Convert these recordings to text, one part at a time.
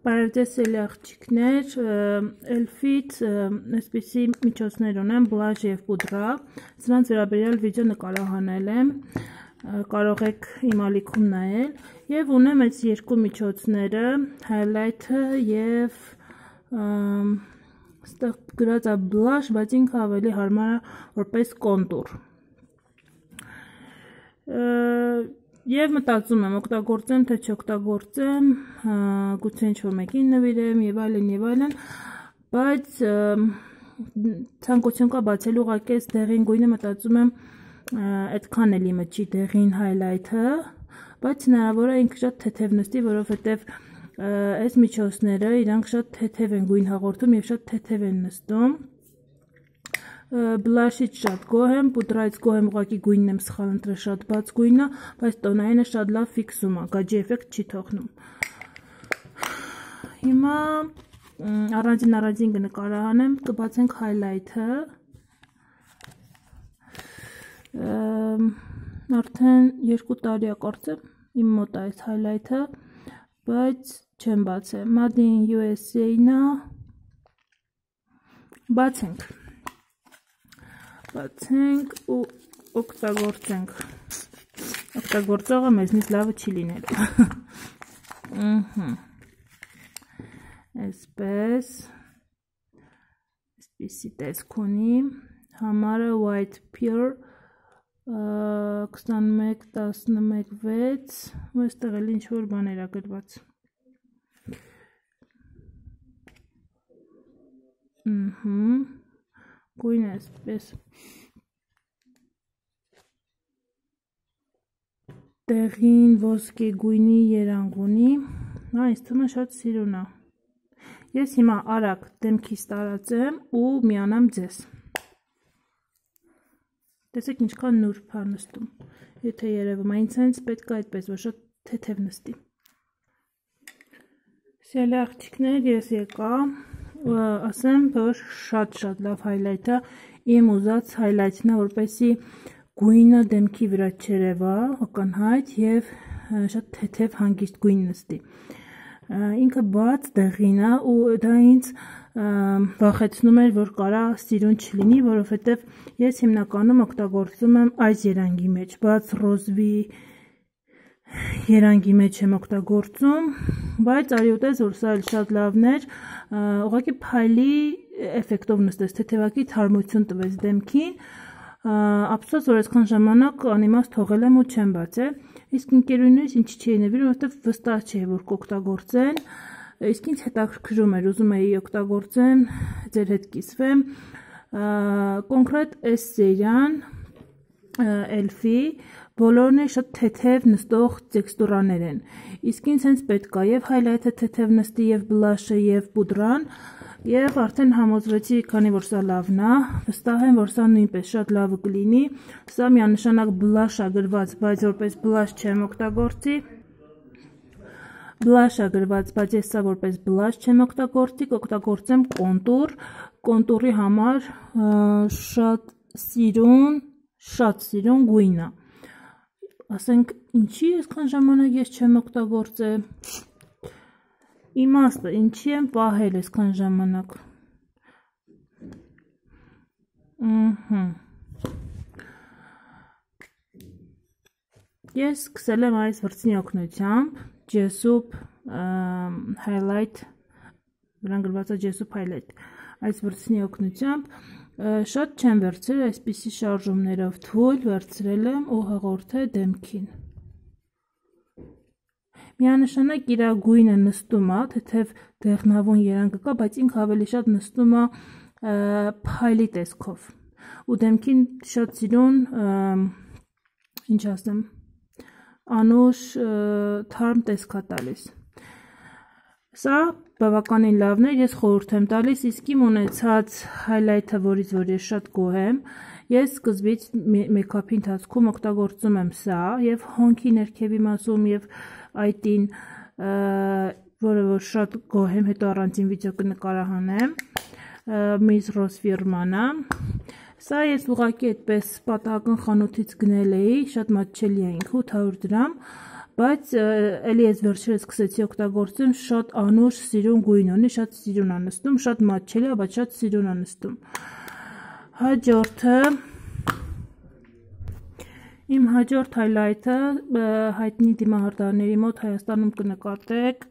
Բարևձեզ սելի աղջիկներ, Elf-ից այսպիսի միջոցներ ունեմ, բլաշ և պուդրա, սրանց վերաբերյալ վիդեո նկարահանել եմ, կարող եք իմ ալիքում նայել, և ունեմ այս երկու միջոցները, highlight-ը և ստեղ գրած է բլաշ, բայց ինքը ավելի հարմար է որպես կոնտուր։ Եվ մտածում եմ օգտագործեմ, թե չօգտագործեմ, գուցե ինչ-որ մեկին նվիրեմ և այլն, բայց ցանկություն կա բացելու ուղղակի այս դեղին գույնը մտածում եմ այդքան էլի մտչի դեղին highlight-ը, բայց հնարավոր է ինքը շատ թեթև նստի, որովհետև այս միջոցները իրանք շատ թեթև են գույն հաղորդում և շատ թեթև են նստում։ Բլաշից շատ գոհ եմ, պուդրայից գոհ եմ, ուղղակի գույնն եմ սխալ ընտրել, շատ բաց գույն է, բայց տոնայինը շատ լավ ֆիքսում է, գաջի էֆեկտ չի թողնում։ Հիմա առանձին կնկարահանեմ, կբացենք highlight-ը։ Արդեն 2 տարի է կարծեմ, իմ մոտ է այս highlight-ը, բայց չեմ բացել, Made in USA-ն է, բացենք ու օգտագործենք, օգտագործողը մեզնից լավը չի լինելու, այսպիսի տեսք ունի, համարը White Pure 21-11-6, այստեղ էլ ինչ-որ բաներ է գրված, գույնը այսպես տեղին ոսկե գույնի երանգ ունի, ինձ թվում է շատ սիրուն է։ Ես հիմա արագ դեմքիս տարածեմ ու միանամ ձեզ։ Տեսեք ինչքան նուրբ է նստում, եթե երևում է, ինձ հենց պետք է այդպես, որ շատ թեթև նստի։ Սիրելի աղջիկներ, ես եկա, ասեմ, որ շատ լավ highlight է, իմ ուզած highlight-ն է, որպեսզի գույնը դեմքի վրա չերևա, ակնհայտ և շատ թեթև հանգիստ գույն նստի։ Ինքը բաց դեղին է ու դա ինձ վախեցնում էր, որ կարա սիրուն չլինի, որովհետև ես հիմնականում օգտագործում եմ այս երանգի մեջ, բաց ռոզվի երանգի մեջ եմ օգտագործում, բայց արի ուտես, որ սա էլ շատ լավն էր, ուղղակի փայլի էֆեկտով նստեց, թեթևակի թարմություն տվեց դեմքին, ափսոս, որ այսքան ժամանակ անիմաստ թողել եմ ու չեմ բացել, իսկ ընկերուհիներիս ինչի չէի նվիրում, որովհետև վստահ չէի, որ կօգտագործեն, իսկ ինձ հետաքրքրում էր, ուզում էի օգտագործեմ, ձեր հետ կիսվեմ, կոնկրետ այս սերիան, Elf-ի, բոլորն է շատ թեթև նստող տեքստուրաներ են, իսկ ինձ հենց պետք է և highlight-ը թեթև նստի, և բլաշը, և պուդրան, և արդեն համոզվեցի, քանի որ սա լավն է, վստահ եմ, որ սա նույնպես շատ լավը կլինի, սա միանշանակ բլաշ է գրված, բայց որպես բլաշ չեմ օգտագործի, բլաշ է գրված, բայց ես սա որպես բլաշ չեմ օգտագործի, կօգտագործեմ կոնտուր, կոնտուրի համար շատ սիրուն գույն է, ասենք ինչի այսքան ժամանակ ես չեմ օգտագործել, իմաստը, ինչի եմ պահել այսքան ժամանակ, ես սկսել եմ այս վրձնի օգնությամբ, Jessup highlight, վրան գրված է Jessup highlight, այս վրձնի օգնությամբ, շատ չեմ վերցրել, այսպիսի շարժումներով թույլ վերցրել եմ ու հղորդել դեմքին։ Միանշանակ իր գույնը նստում է, թեթև դեղնավուն երանգը կա, բայց ինքը ավելի շատ նստում է փայլի տեսքով ու դեմքին շատ սիրուն, ինչ ասեմ, անուշ թարմ տեսք է տալիս։ Սա բավականին լավն է, ես խորհուրդ եմ տալիս, իսկ իմ ունեցած highlight-ը, որից որ ես շատ գոհ եմ, ես սկզբից մեյքափի ընթացքում օգտագործում եմ սա և հոնքի ներքևի մասում և այտին, որը որ շատ գոհ եմ, հետո առանձին վիդեո կնկարահանեմ, Miss Rose ֆիրման է, սա ես ուղղակի այդպես պատահական խանութից գնել էի, շատ մատչելի է ինքը 800 դրամ, բայց էլի ես վերջերս սկսեցի օգտագործեմ, շատ անուշ սիրուն գույն ունի, շատ սիրուն է նստում, շատ մատչելի է, բայց շատ սիրուն է նստում։ Հաջորդը իմ հաջորդ հայլայթը հայտնի դիմահարդարների մոտ Հայաստանում կնկատեք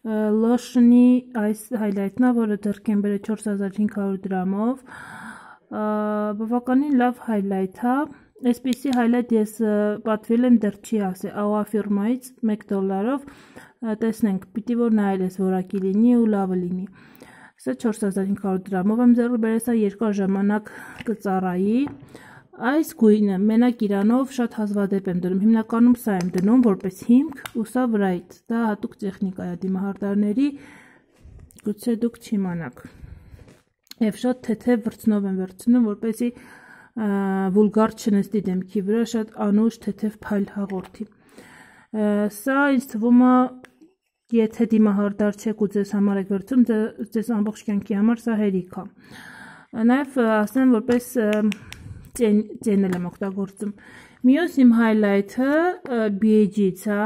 Lotion-ի այս հայլայթն է, որը ձեռք եմ բերել 4500 դրամով, բավականին լավ հայլայթ է, այսպիսի հայլայթ ես պատվիրել եմ դեռ չի ասել, AOA ֆիրմայից $1, տեսնենք, պիտի որ նայել ես որակի լինի ու լավը լինի, սա 4500 դրամով եմ ձեռք բերել, սա երկար ժամանակ կծառայի, այս գույնը մենակ իրանով շատ հազվադեպ եմ դնում, հիմնականում սա եմ դնում որպես հիմք ու սա վրայից, դա հատուկ տեխնիկա է դիմահարդարների, գուցե դուք չիմանաք, և շատ թեթև վրձնով եմ վերցնում, որպեսզի վուլգար չնստի դեմքի վրա, շատ անուշ թեթև փայլ հաղորդի, սա ինձ թվում է, եթե դիմահարդար չեք ու ձեզ համար եք վերցում, ձեզ ամբողջ կյանքի համար սա հերիք է, նաև ասեմ որպես ծենել եմ օգտագործում, մյուս իմ հայլայթը BHG-ից է,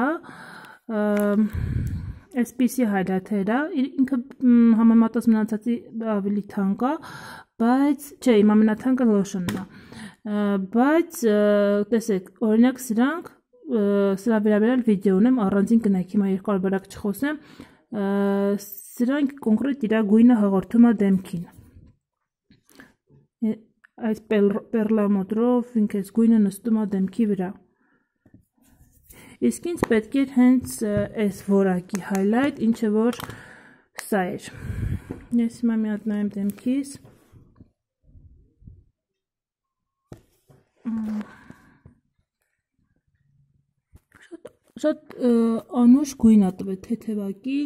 այսպիսի հայլայթեր է, ինքը համեմատած մնացածի ավելի թանկ է, բայց, չէ, իմ ամենաթանկը Lotion-ն է, բայց, տեսեք, օրինակ սրանք, սրա վերաբերյալ վիդեո ունեմ, առանձին կնայք, հիմա երկար բարակ չխոսեմ, սրանք կոնկրետ իր գույնը հաղորդում է դեմքին, այս պերլամոտրով ինք այս գույնը նստում է դեմքի վրա, իսկ ինձ պետք էր հենց այս որակի հայլայթ, ինչը որ սա էր, ես հիմա մի հատ նայեմ դեմքիս, շատ անուշ գույն է տվել, թեթևակի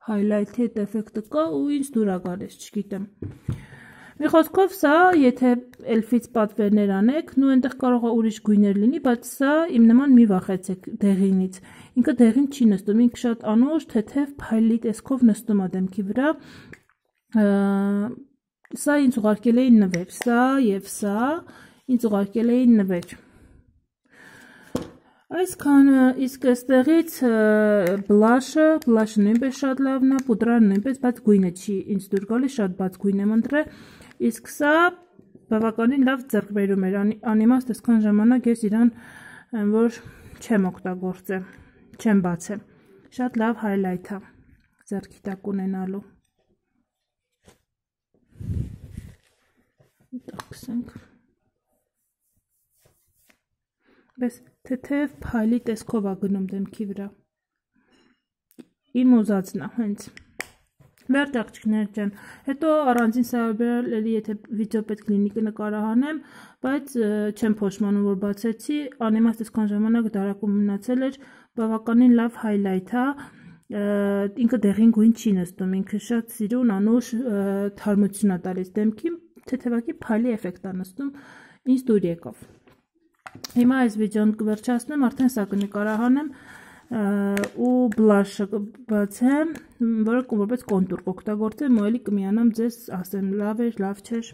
հայլայթի հետ էֆեկտը կա ու ինձ դուր է գալիս, չգիտեմ, մի խոսքով սա, եթե էլֆից պատվերներ անեք, նու ենտեղ կարող է ուրիշ գույներ լինի, բայց սա իմ նման մի վախեցեք դեղինից, ինքը դեղին չի նստում, ինքը շատ անուշ, թեթև, փայլի տեսքով նստում է դեմքի վրա, սա ինձ ուղարկել էին նվեր, սա և սա ինձ ուղարկել էին նվեր, այսքանը, իսկ այստեղից բլաշը նույնպես շատ լավն է, պուդրան նույնպես, բայց գույնը չի ինձ դուր գալի, շատ բաց գույն եմ ընտրել, իսկ սա բավականին լավ ձեռքբերում էր, անիմաստ այսքան ժամանակ ես իրան, որ չեմ օգտագործել, չեմ բացել, շատ լավ հայլայթ է ձեռքի տակ ունենալու, տաքսենք, բես թեթև փայլի տեսքով է գնում դեմքի վրա, իմ ուզածն է հենց, վերջ աղջիկներ ջան, հետո առանձին սարաբերալ, էլի եթե վիդեո պետք լինի կնկարահանեմ, բայց չեմ փոշմանում, որ բացեցի, անիմաստ այսքան ժամանակ դարակում մնացել էր, բավականին լավ հայլայթ է, ինքը դեղին գույն չի նստում, ինքը շատ սիրուն, անուշ թարմություն է տալիս դեմքի, թեթևակի փայլի էֆեկտ է նստում, ինձ դուր եկավ, հիմա այս վիդեոն կվերջացնեմ, արդեն սա կնկարահանեմ, ու բլաշը կբացեմ, որը որպես կոնտուր կօգտագործեմ ու էլի կմիանամ ձեզ ասեմ լավ էր, լավ չէր